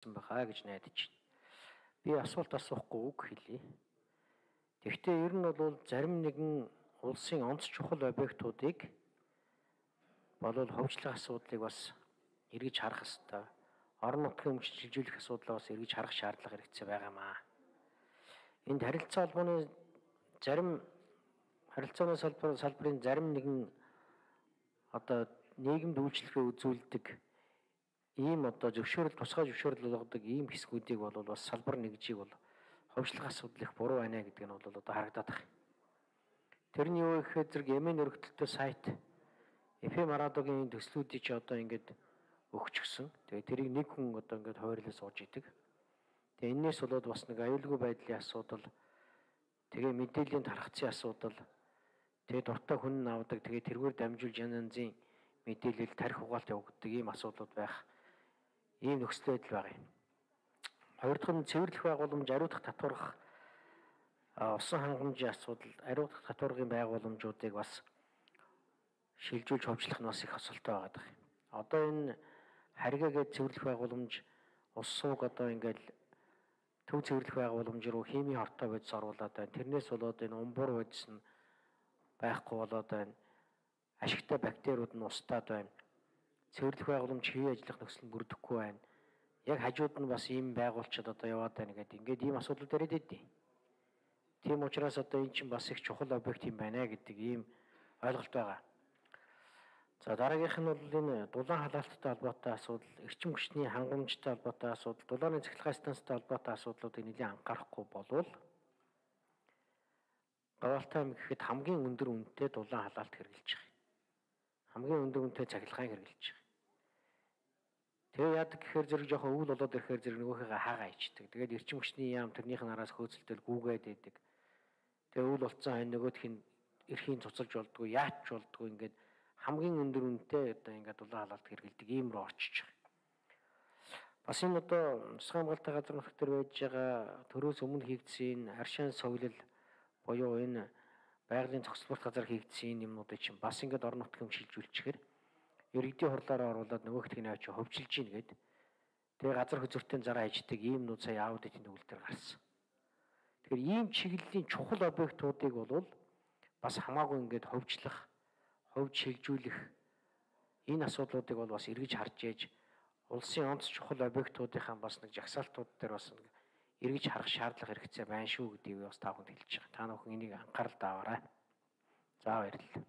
байгаа гэж найдаж байна. Би асуулт асуухгүй үг хэлье. Тэгэхдээ ер нь бол зарим нэгэн улсын онц чухал объектуудыг болов хөгжлийн асуудлыг бас эргэж харах хэрэгтэй. Орон нутгийн өмчилж шилжүүлэх асуудлаа бас эргэж харах шаардлага хэрэгцээ байгаамаа. Энд харилцаа холбооны зарим харилцааны салбарын зарим нэгэн одоо нийгэмд үйлчлэгээ үзүүлдэг ийм одоо тусгай зөвшөөрөл болгодог ийм хэсгүүдийг бол бас салбар нэгжийг бол хөгжлийн асуудал их буруу байна гэдэг нь бол одоо харагдаад байна. Тэрний юу гэхээр зэрэг Йемен өргөдөлтөй сайт FM радиогийн төслүүдийг чи одоо ингээд өгчихсөн. Тэгээ тэрийг нэг хүн одоо ингээд хойрлоо сууж идэг. Тэгээ энээс болоод бас нэг аюулгүй байдлын асуудал, тэгээ мэдээллийн тархацын асуудал, тэгээ дуртай хүн авдаг, тэгээ тэргээр дамжуулж янзын мэдээлэл тарих угаалт явагддаг ийм асуудлууд байх ийм нөхцөл байдал байгаа юм. Хоёр дахь нь цэвэрлэх байгууламж, ариутгах татварах усан хангамжийн асуудал, ариутгах татваргын байгууламжуудыг бас шилжүүлж хөгжлөх нь бас их асуудалтай байгаа юм. Одоо энэ харьгаагээд цэвэрлэх байгууламж ус сууг одоо ингээл төв цэвэрлэх байгууламж руу химийн хортой бодис оруулаад байна. Тэрнээс болоод энэ умбуур бодис нь байхгүй болоод байна. Ашигтай бактериуд нь устдаад байна. Цэвэрлэх байгууламж хэвийн ажиллах нөхцөл нь бүрдэхгүй байна. Яг хажууд нь бас ийм байгууллагчид одоо яваад байна гэдэг. Ингээд ийм асуудал ирээд идэв. Тийм учраас одоо эн чинь бас их чухал объект юм байна гэдэг ийм ойлголт байгаа. За дараагийнх нь бол энэ дулаан халаалттай холбоотой асуудал, эрчим хүчний хангамжтай холбоотой асуудал, дулааны цахилгаан станцтай холбоотой асуудлуудыг нэлээд анхаарахгүй болвол Гаваалтай аймаг гэхэд хамгийн өндөр үнэтэй дулаан халаалт хэрэгжилж байгаа. Хамгийн өндөр үнэтэй цахилгаан хэрэгжилж байгаа. Тэгээ яадаг гэхээр зэрэг жоохон өвөл болоод ирэхээр зэрэг нөгөөхийгөө хаагаа ичдэг. Тэгээд эрчим хүчний яам тэрнийх нь араас хөөцөлтөл гүүгээд идэг. Тэгээ өвөл болцсон хань нөгөөх нь эрхийн цуцалж болдгоо, яач болдгоо ингээд хамгийн өндөр үнэтэй одоо ингээд дулаан халаалт хэрэгэлдэг ийм рүү орчиж байгаа. Бас энэ одоо Усгын хамгаалалтын газар нутаг дээр байж байгаа төрөөс өмнө хийгдсэн аршин соёлол буюу энэ байгалийн зохицуулалт газар хийгдсэн юмнуудыг чинь бас ингээд орон нутгийн шилжүүлчихээр иргэдийн хурлаараа оруулаад нөгөөхтг нь авч хөвжилж гин гээд тэгээ газар хөзөртийн зараа иждэг ийм нүүд сая аудитын төвлөлтөөр гарсан. Тэгэхээр ийм чиглэлийн чухал объектуудыг бол бас хамаагүй ингээд хөгжлөх, ховж шилжүүлэх энэ асуудлуудыг бол бас эргэж харж ээж улсын онц чухал объектуудынхаа бас нэг жагсаалтууд дээр бас нэг эргэж харах шаардлага хэрэгцээ байна шүү гэдгийг бас та бүхэнд хэлж байгаа. Та бүхэн энийг анхаарал таваарай. За баярлалаа.